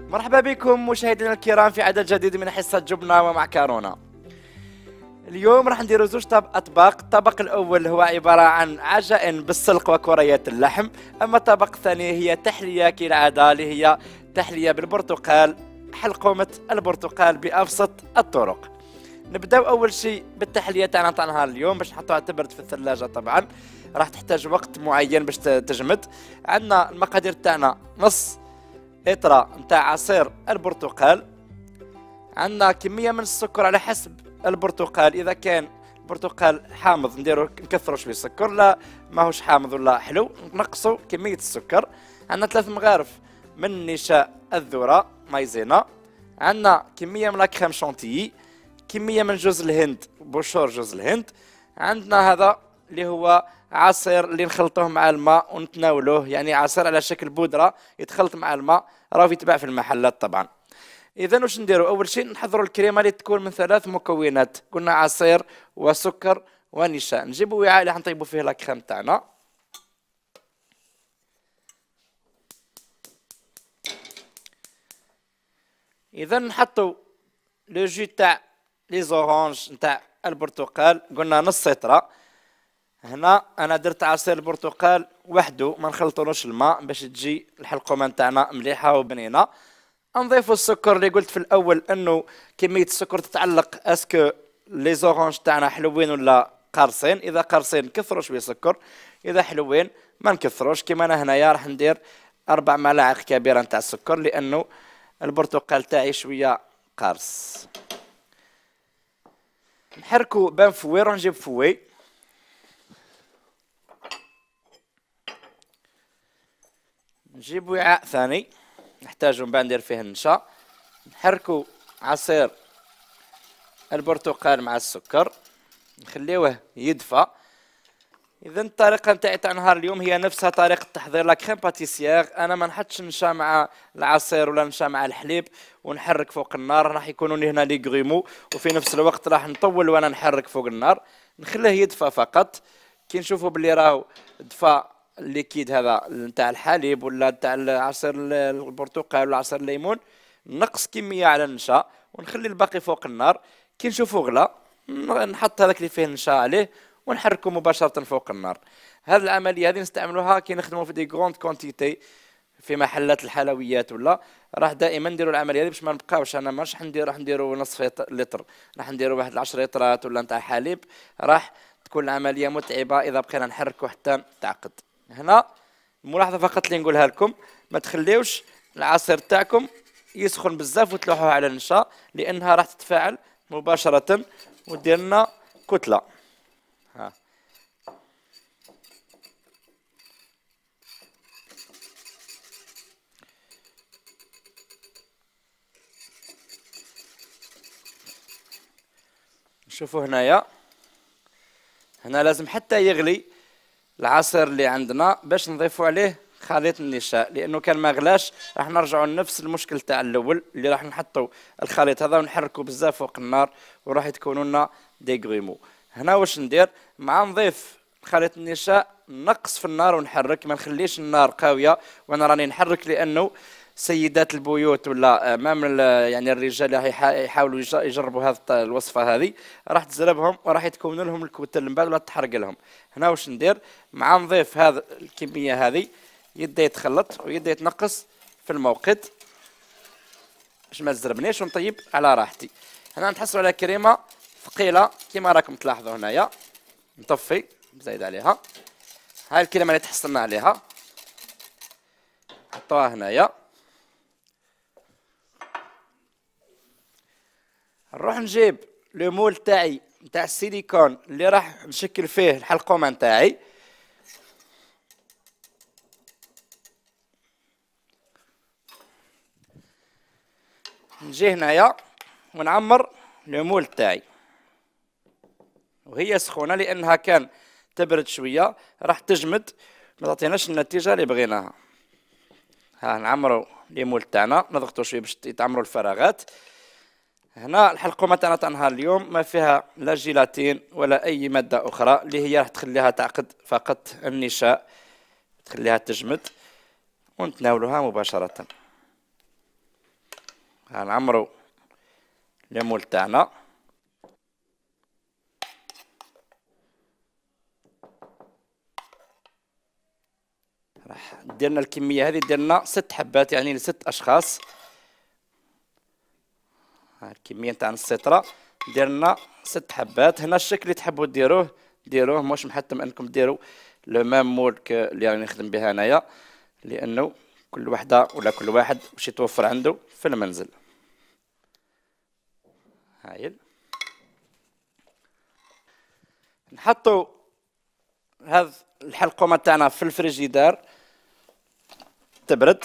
مرحبا بكم مشاهدينا الكرام في عدد جديد من حصة جبنة ومعكرونة. اليوم راح نديرو زوج أطباق. الطبق الأول هو عبارة عن عجائن بالسلق وكريات اللحم، أما الطبق الثاني هي تحلية كالعادة اللي هي تحلية بالبرتقال، حلقومة البرتقال بأبسط الطرق. نبداو أول شيء بالتحلية تاع نهار اليوم باش نحطوها تبرد في الثلاجة. طبعا راح تحتاج وقت معين باش تجمد. عندنا المقادير تاعنا نص إطرة نتاع عصير البرتقال، عندنا كمية من السكر على حسب البرتقال، إذا كان البرتقال حامض نديرو نكثرو شوية السكر، لا ماهوش حامض ولا حلو نقصو كمية السكر. عندنا 3 مغارف من نشاء الذرة مايزينا، عندنا كمية من لاكريم شونتيي، كمية من جوز الهند بشور جوز الهند، عندنا هذا اللي هو عصير اللي نخلطوه مع الماء ونتناولوه، يعني عصير على شكل بودرة يتخلط مع الماء، راه يتباع في المحلات طبعا. اذا واش نديرو؟ اول شيء نحضروا الكريمه اللي تكون من 3 مكونات، قلنا عصير وسكر ونشاء. نجيبوا وعاء اللي حنطيبوا فيه لاكريم تاعنا، اذا نحطوا لو جو تاع لي زورانج نتاع البرتقال، قلنا نص لتر. هنا انا درت عصير البرتقال وحده، ما نخلطولوش الماء باش تجي الحلقومه نتاعنا مليحه وبنينه. نضيفوا السكر اللي قلت في الاول انه كميه السكر تتعلق اسكو لي زورانج تاعنا حلوين ولا قارصين. اذا قارصين نكثروا شويه سكر، اذا حلوين ما نكثروش. كيما انا هنايا راح ندير 4 ملاعق كبيره نتاع السكر لانه البرتقال تاعي شويه قارص. نحركوا بان فوي، نجيب فوي نجيب وعاء ثاني نحتاجو من بعد ندير فيه النشا. نحركو عصير البرتقال مع السكر نخليوه يدفى. اذا الطريقه نتاعي تاع نهار اليوم هي نفسها طريقه تحضير لا كريم باتيسيير. انا ما نحطش نشا مع العصير ولا نشا مع الحليب ونحرك فوق النار، راح يكونوا لي هنا لي غريمو، وفي نفس الوقت راح نطول وانا نحرك فوق النار. نخليه يدفى فقط. كي نشوفوا باللي راهو دفى الليكيد هذا نتاع الحليب ولا نتاع عصير البرتقال ولا عصير الليمون، نقص كميه على النشا ونخلي الباقي فوق النار. كي نشوفوا غلا نحط هذاك اللي فيه النشا عليه ونحركه مباشره فوق النار. هذه العمليه هذه نستعملوها كي نخدموا في دي غروند كونتيتي في محلات الحلويات، ولا راح دائما نديروا العمليه هذه باش ما نبقاوش. انا ماش راح نديروا نصف لتر، راح نديروا واحد 10 لترات ولا نتاع حليب، راح تكون العمليه متعبه اذا بقينا نحركوا حتى تعقد. هنا الملاحظه فقط اللي نقولها لكم، ما تخليوش العصير تاعكم يسخن بزاف وتلوحوه على النشا، لانها راح تتفاعل مباشره ودير لنا كتله. ها شوفوا هنايا، هنا لازم حتى يغلي العصير اللي عندنا باش نضيفوا عليه خليط النشاء، لانه كان ما غلاش راح نرجعوا لنفس المشكل تاع الاول اللي راح نحطوا الخليط هذا ونحركوا بزاف فوق النار وراح يتكونوا لنا دي غريمو. هنا واش ندير مع نضيف خليط النشاء؟ نقص في النار ونحرك، ما نخليش النار قويه وانا راني نحرك، لانه سيدات البيوت ولا امام يعني الرجال يحاولوا يجربوا هذه الوصفه هذه راح تزربهم وراح يتكون لهم الكتل من بعد ولا تحرق لهم. هنا واش ندير مع نضيف هذا الكميه هذه، يبدا يتخلط ويبدا يتنقص في الموقد باش ما تزربنيش ونطيب على راحتي. هنا نتحصلوا على كريمه ثقيله كما راكم تلاحظوا هنايا. نطفي نزيد عليها هاي الكريمه اللي تحصلنا عليها، نحطوها هنايا. نروح نجيب لو مول تاعي نتاع السيليكون اللي راح نشكل فيه الحلقومه نتاعي. نجي هنايا ونعمر لو مول تاعي وهي سخونه، لانها كان تبرد شويه راح تجمد ما تعطيناش النتيجه اللي بغيناها. ها نعمروا لي مول تاعنا، نضغطوا شويه باش يتعمروا الفراغات. هنا الحلقومه تاع نهار اليوم ما فيها لا جيلاتين ولا اي ماده اخرى اللي هي راح تخليها تعقد، فقط النشاء تخليها تجمد ونتناولها مباشره. غنعمرو المول تاعنا. راح ديرنا الكميه هذه، ديرنا 6 حبات يعني ل6 اشخاص. ها الكميه نتاع نص سيطره ديرنا 6 حبات. هنا الشكل اللي تحبوا ديروه مش محتم انكم ديروا لو ميم مول اللي راني نخدم بها انايا، لانه كل وحده ولا كل واحد واش يتوفر عنده في المنزل. هايل. نحطوا هذا الحلقومه تاعنا في الفريجيدار تبرد.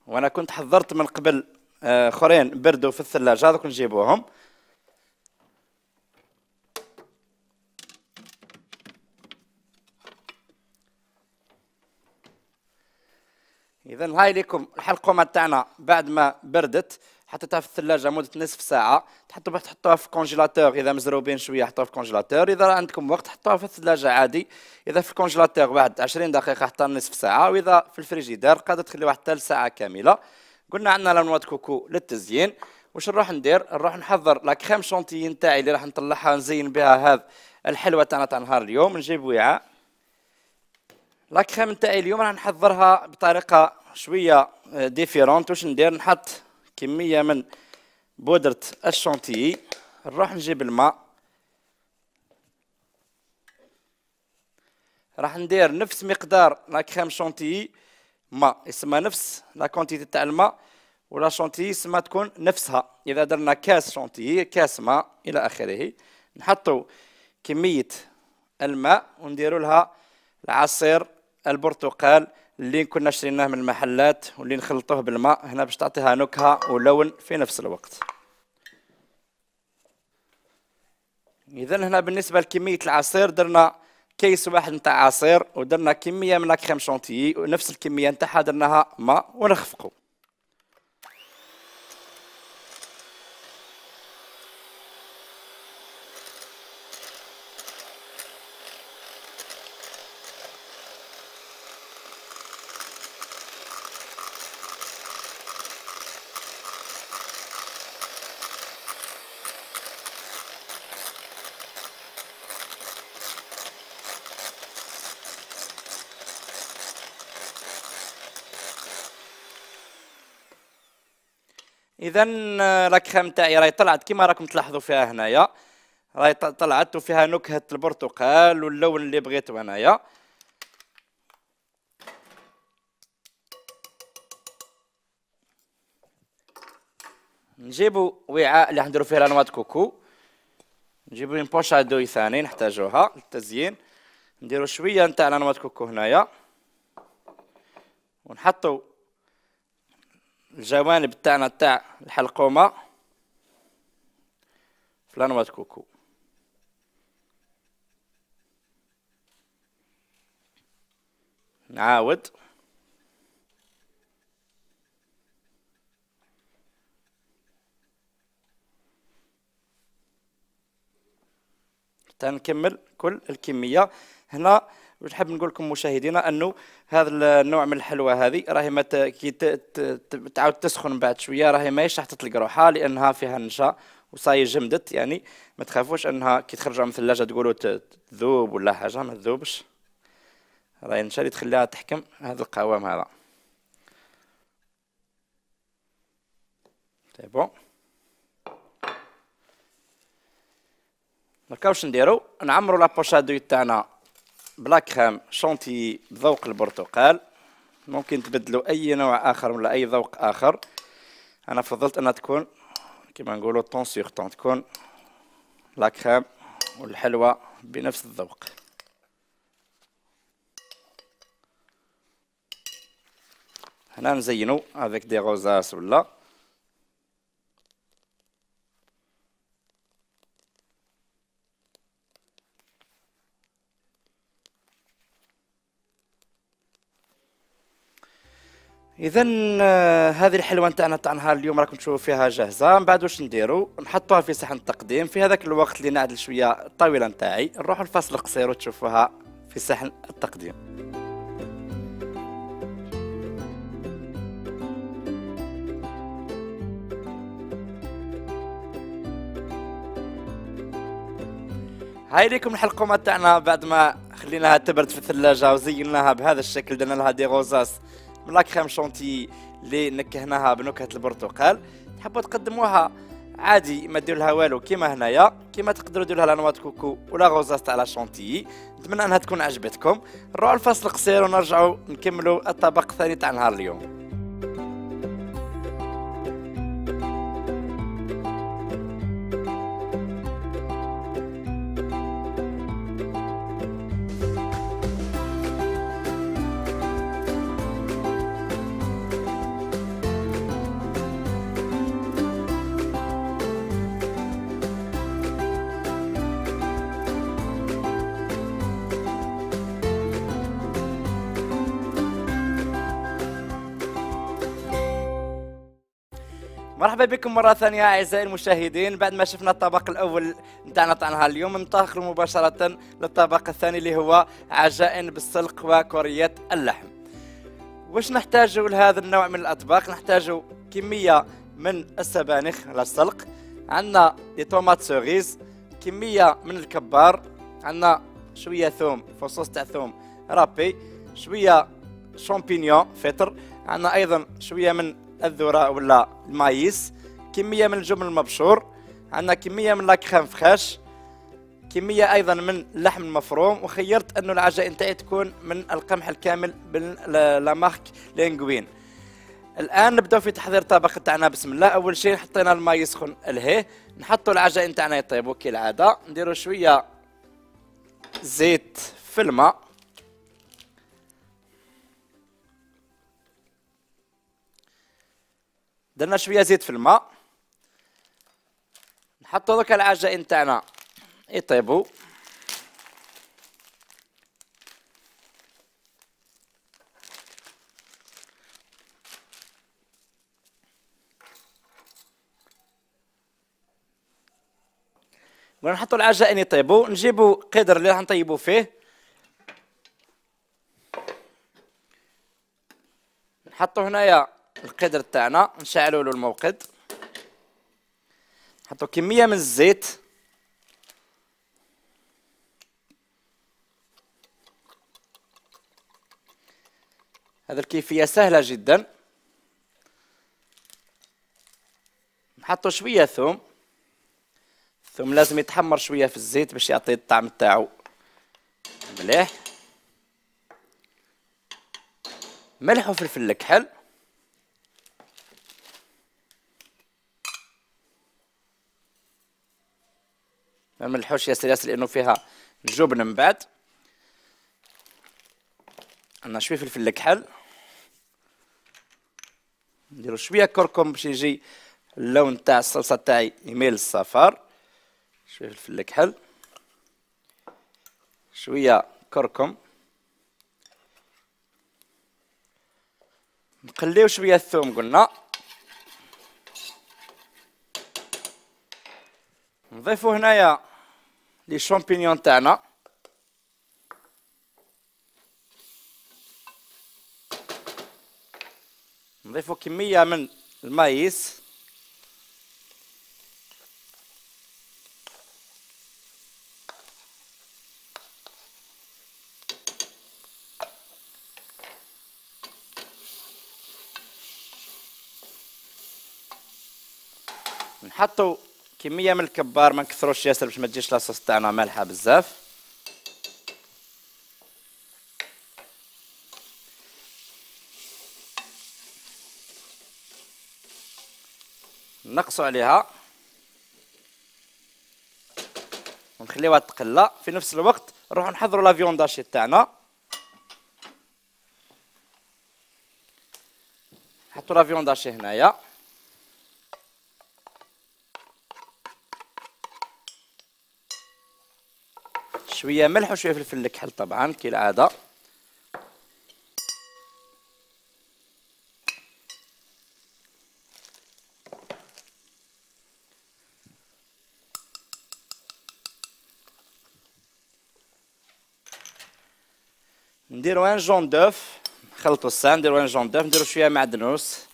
وانا كنت حضرت من قبل اخرين بردوا في الثلاجه، هذوك نجيبوهم. اذا هاي لكم الحلقومه تاعنا بعد ما بردت، حطيتها في الثلاجه مده نصف ساعه. تحطوها في الكونجيلاتور، اذا مزروبين شويه حطوها في الكونجيلاتور، اذا عندكم وقت حطوها في الثلاجه عادي. اذا في الكونجيلاتور بعد 20 دقيقه حتى نصف ساعه، واذا في الفريجيدار قادر تخليوها حتى ساعه كامله. قلنا عندنا لانوات كوكو للتزيين. واش نروح ندير؟ نروح نحضر لا كريم شونتيي نتاعي اللي راح نطلعها نزين بها هذا الحلوه تاعنا تاع نهار اليوم. نجيب وعاء. لا كريم نتاعي اليوم راح نحضرها بطريقه شويه ديفيرونت. واش ندير؟ نحط كميه من بودره الشونتيي. نروح نجيب الماء، راح ندير نفس مقدار لا كريم شونتيي ماء، يسمى نفس لا كونتيتي تاع الماء، ولا شونتيي يسمى تكون نفسها. اذا درنا كاس شونتيي كاس ماء الى اخره. نحطوا كميه الماء ونديروا لها العصير البرتقال اللي كنا شريناه من المحلات واللي نخلطوه بالماء هنا باش تعطيها نكهه ولون في نفس الوقت. اذا هنا بالنسبه لكميه العصير درنا كيس واحد نتاع عصير، ودرنا كميه من لاكريم شونتيي ونفس الكميه نتاعها درناها ماء ونخفقوا. اذا لاكريم تاعي راهي طلعت كيما راكم تلاحظوا فيها هنايا، راهي طلعت وفيها نكهه البرتقال واللون اللي بغيتو انايا. نجيبوا وعاء اللي حنديروا فيه لانوات كوكو، نجيبوا بوش ادوي ثاني نحتاجوها للتزيين. نديروا شويه نتاع لانوات كوكو هنايا، ونحطوا الجوانب تاعنا تاع الحلقومه في لانوات كوكو. نعاود حتى نكمل كل الكميه. هنا نحب نقول لكم مشاهدينا انه هذا النوع من الحلوى هذه راهي كي تعاود تسخن بعد شويه راهي ماهيش راح تطلق روحها لانها فيها نشا وصاي جمدت. يعني ما تخافوش انها كي تخرجوا من الثلاجه تقولوا تذوب ولا حاجه، ما تذوبش، راهي النشا اللي تخليها تحكم هذا القوام هذا. سي بون. دونك واش نديرو؟ نعمرو لابوشادوي تاعنا بلا كريم شونتيي بذوق البرتقال. ممكن تبدلوا اي نوع اخر ولا اي ذوق اخر. انا فضلت انها تكون كما نقولوا طون سيغ طون، تكون لا كريم والحلوى بنفس الذوق. هنا نزينوا افيك دي روزاس ولا اذا هذه الحلوه نتاعنا تاع نهار اليوم راكم تشوفوا فيها جاهزه. من بعد واش نديروا؟ نحطوها في صحن التقديم. في هذاك الوقت اللي نعدل شويه الطاوله نتاعي نروحوا الفاصل القصير وتشوفوها في صحن التقديم. هاي ليكم الحلقومه تاعنا بعد ما خليناها تبرد في الثلاجه وزيناها بهذا الشكل. درنا لها دي غوزاس من لا كريم شونتي اللي نكهناها بنكهه البرتقال. تحبوا تقدموها عادي ما ديروا لها والو كيما هنايا، كيما تقدروا ديروا لها نوات كوكو ولا غوزاس تاع لا شونتي. نتمنى انها تكون عجبتكم. نروحوا الفصل قصير ونرجعوا نكملوا الطبق الثاني تاع نهار اليوم. مرحبا بكم مرة ثانية أعزائي المشاهدين. بعد ما شفنا الطبق الأول نتاعنا تاع نهار اليوم ننتقل مباشرة للطبق الثاني اللي هو عجائن بالسلق وكريات اللحم. واش نحتاجوا لهذا النوع من الأطباق؟ نحتاجوا كمية من السبانخ للسلق، عندنا دي طوماط سوريز، كمية من الكبار، عندنا شوية ثوم فصوص تاع ثوم رابي، شوية شامبينيون فطر، عندنا أيضا شوية من الذرة ولا المايس، كمية من الجبن المبشور، عندنا كمية من لاكريم فريش، كمية أيضا من اللحم المفروم. وخيرت أنه العجائن تاعي تكون من القمح الكامل لا مارك لينغوين. الآن نبدأ في تحضير الطبق تاعنا. بسم الله. أول شيء حطينا الماء يسخن الهيه، نحطوا العجائن تاعنا يطيبوا كالعادة، نديروا شوية زيت في الماء، درنا شويه زيت في الماء، نحطوا دوكا العجائن تاعنا يطيبوا. ونحطوا العجائن يطيبوا، نجيبوا قدر اللي راح نطيبوا فيه، نحطوا هنايا القدر تاعنا، نشعلوا له الموقد، نحطوا كميه من الزيت، هذه الكيفيه سهله جدا. نحطوا شويه ثوم، الثوم لازم يتحمر شويه في الزيت باش يعطي الطعم تاعو مليح. ملح وفلفل الكحل، ما نملحوش ياسر ياسر لانه فيها جبن من بعد. عندنا شويه فلفل الكحل، نديرو شويه كركم باش يجي اللون تاع الصلصه تاعي يميل للصفار. شويه فلفل الكحل، شويه كركم، نقليو شويه الثوم قلنا، نضيفو هنايا لي شامبينيون تاعنا، نضيفو كمية من المايس، نحطو كمية من الكبار، ما نكثروش ياسر باش ما تجيش لاصوص تاعنا مالحة بزاف. نقصوا عليها ونخليوها تقلى. في نفس الوقت نروحو نحضروا لا فيونداشي تاعنا، نحطوا لا فيونداشي هنايا، شويه ملح وشويه فلفل الكحل طبعا كالعاده. نديرو ان جون دوف، نخلطو الساعه، نديرو ان جون دوف، نديرو شويه معدنوس،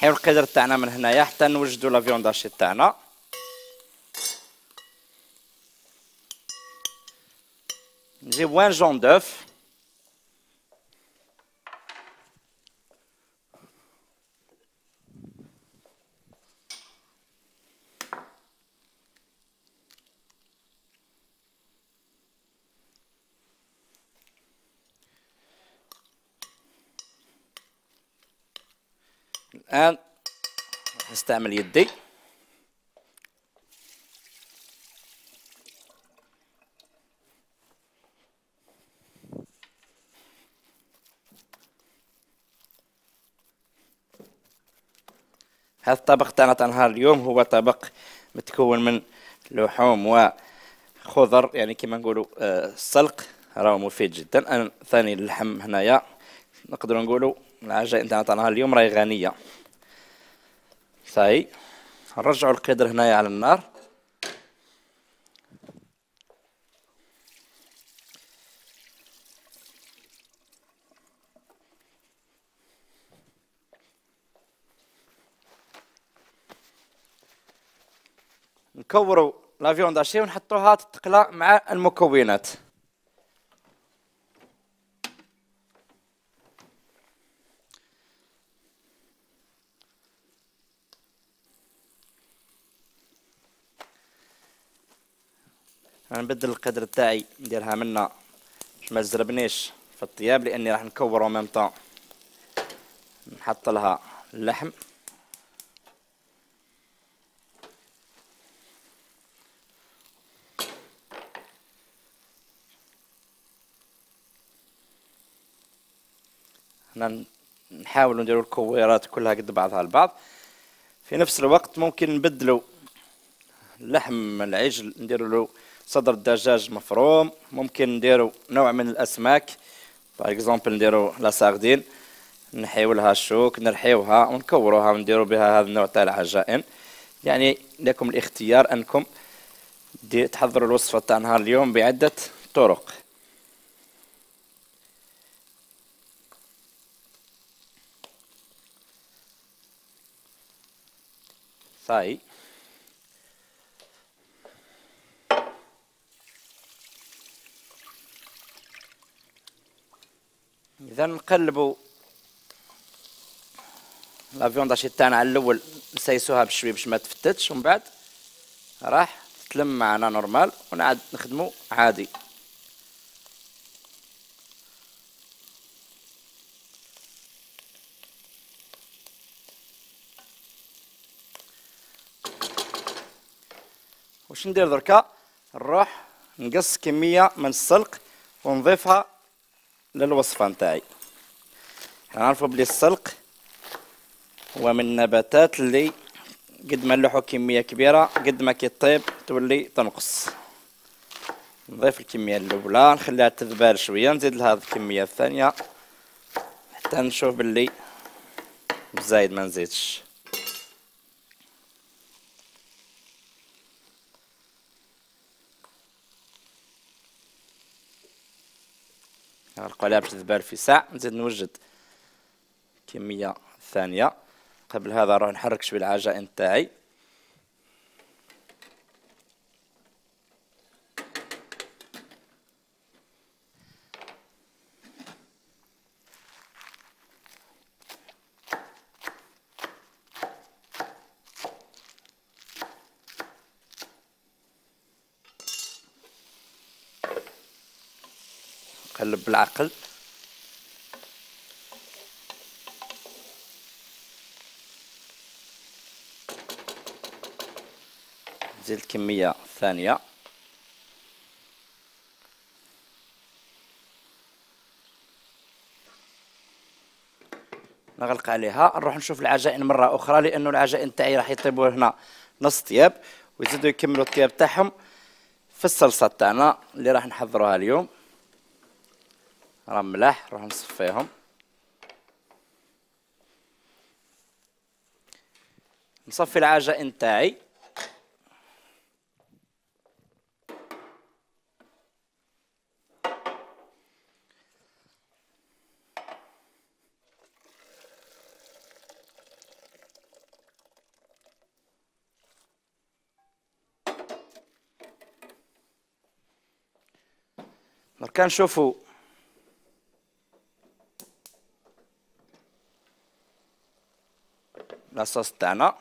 نحيو القدر تاعنا من هنايا حتى نوجدو لا فيونداشي تاعنا. نجيب وان جون دوف، الآن نستعمل يدي. هذا الطبق تاعنا تاع نهار اليوم هو طبق متكون من لحوم وخضر، يعني كما نقولوا السلق راهو مفيد جدا. أنا ثاني اللحم هنايا نقدروا نقولوا العجائن تاعنا تاع نهار اليوم راهي غنية. صاي نرجعوا القدر هنايا على النار. نكوروا لا فيونداشي ونحطوها تتقلى مع المكونات. نبدل القدر تاعي نديرها منا باش ما تزربنيش في الطياب، لاني راح نكور ميم طون نحط لها اللحم. هنا نحاولوا نديروا الكويرات كلها قد بعضها البعض. في نفس الوقت ممكن نبدلوا لحم العجل نديروا له صدر الدجاج مفروم، ممكن نديروا نوع من الاسماك باغ اكزومبل نديروا لا ساردين، نحيو لها الشوك نرحيوها ونكوروها ونديروا بها هذا النوع تاع العجائن. يعني لكم الاختيار انكم تحضروا الوصفه تاع نهار اليوم بعده طرق. صاي اذا نقلبوا لا فيونداشي تاعنا على الاول نسيسوها بشوي باش ما تفتتش، ومن بعد راح تلم معنا نورمال ونعاد نخدمو عادي. واش ندير دركا؟ نروح نقص كمية من السلق ونضيفها للوصفة نتاعي. نعرفوا بلي السلق هو من النباتات اللي قد ما نلوحوا كمية كبيرة قد ما كي طيب تولي تنقص. نضيف الكمية الأولى نخليها تذبال شوية، نزيد لها الكمية الثانية حتى نشوف باللي زايد ما نزيدش. نغلقوا عليها باش تذبال في ساعة، نزيد نوجد كمية ثانية. قبل هذا نروح نحرك شوي العجائن تاعي. قلب بالعقل. نزيد الكمية الثانية. نغلق عليها نروح نشوف العجائن مرة أخرى، لأنه العجائن تاعي راح يطيبوا هنا نص طياب ويزيدوا يكملوا الطياب تاعهم في الصلصة تاعنا اللي راح نحضروها اليوم. راه ملاح نروح نصفيهم. نصفي العجائن تاعي. دركا نشوفو لاصوص تاعنا،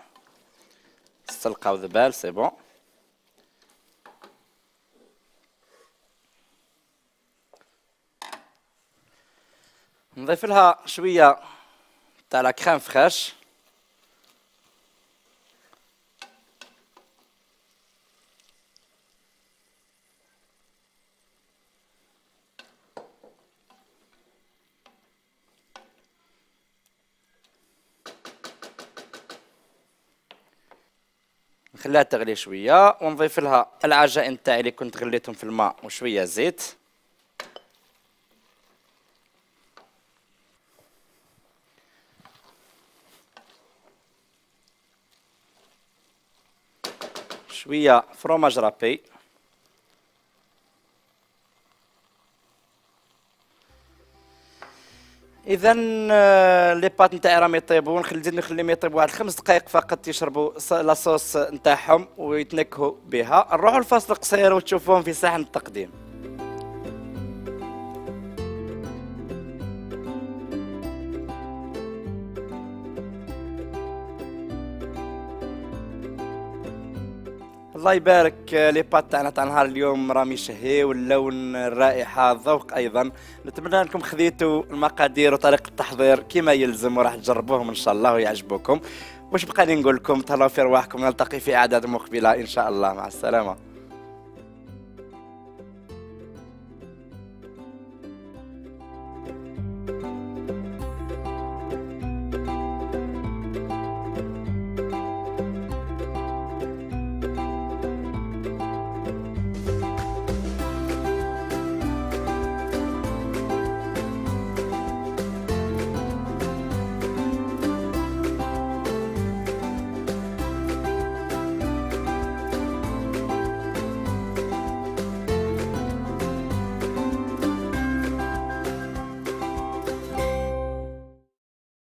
السلقة وذبال سي بون. نضيف لها شوية تاع لا كريم فريش، نخليها تغلي شوية ونضيف لها العجائن تاعي اللي كنت غليتهم في الماء وشوية زيت. شوية فروماج رابي، اذا لي بات نتاعي راهم يطيبوا، نخليهم يطيبوا واحد 5 دقائق فقط يشربوا لاصوص نتاعهم ويتنكهوا بها. نروحوا لفاصل قصير وتشوفوهم في صحن التقديم. الله يبارك، لي بات تاعنا تاع نهار اليوم راهم يشهيو، اللون، الرائحه، الذوق ايضا. نتمنى انكم خذيتوا المقادير وطريقه التحضير كما يلزم وراح تجربوهم ان شاء الله ويعجبوكم. واش بقى لي نقول لكم؟ تهلاو في رواحكم، نلتقي في اعداد مقبله ان شاء الله، مع السلامه.